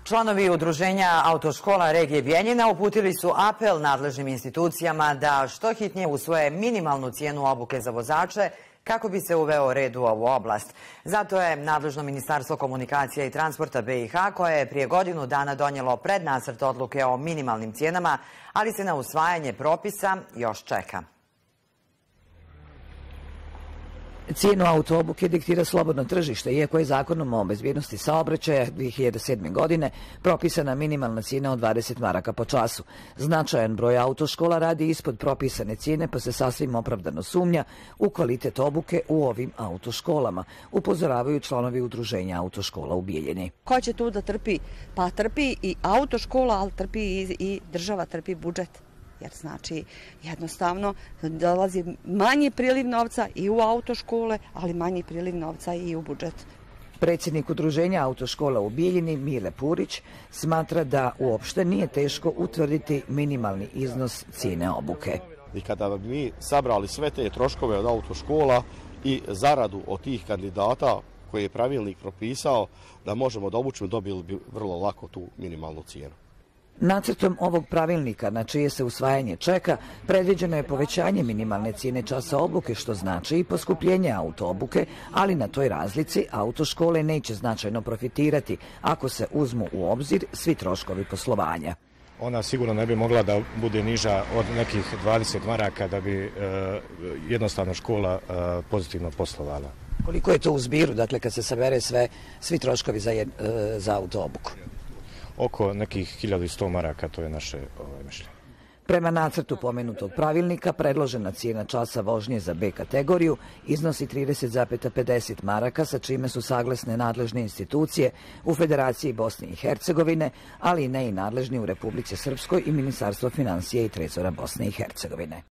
Članovi Udruženja autoškola regije Bijeljina uputili su apel nadležnim institucijama da što hitnije usvoje minimalnu cijenu obuke za vozače kako bi se uveo red u ovu oblast. Zato je nadležno Ministarstvo komunikacija i transporta BiH, koje je prije godinu dana donijelo prednacrt odluke o minimalnim cijenama, ali se na usvajanje propisa još čeka. Cijenu autoobuke diktira slobodno tržište, iako je zakonom o bezbjednosti saobraćaja 2007. godine propisana minimalna cijena od 20 maraka po času. Značajan broj autoškola radi ispod propisane cijene, pa se sasvim opravdano sumnja u kvalitet obuke u ovim autoškolama, upozoravaju članovi Udruženja autoškola u Bijeljini. Ko će tu da trpi? Pa trpi i autoškola, ali trpi i država, trpi budžet. Jer znači jednostavno dolazi manji priliv novca i u autoškole, ali manji priliv novca i u budžet. Predsjednik Udruženja autoškola u Bijeljini, Mile Purić, smatra da uopšte nije teško utvrditi minimalni iznos cijene obuke. I kada bi mi sabrali sve te troškove od autoškola i zaradu od tih kandidata koje je pravilnik propisao da možemo da obučimo, dobili bi vrlo lako tu minimalnu cijenu. Nacrtom ovog pravilnika, na čije se usvajanje čeka, predviđeno je povećanje minimalne cijene časa obuke, što znači i poskupljenje autoobuke, ali na toj razlici autoškole neće značajno profitirati ako se uzmu u obzir svi troškovi poslovanja. Ona sigurno ne bi mogla da bude niža od nekih 20 maraka da bi jednostavno škola pozitivno poslovala. Koliko je to u zbiru, dakle kad se sabere svi troškovi za autoobuku? Oko nekih 1100 maraka, to je naše mišljenje. Prema nacrtu pomenutog pravilnika, predložena cijena časa vožnje za B kategoriju iznosi 30,50 maraka, sa čime su saglasne nadležne institucije u Federaciji Bosne i Hercegovine, ali i nadležni u Republici Srpskoj i Ministarstvo financija i trezora Bosne i Hercegovine.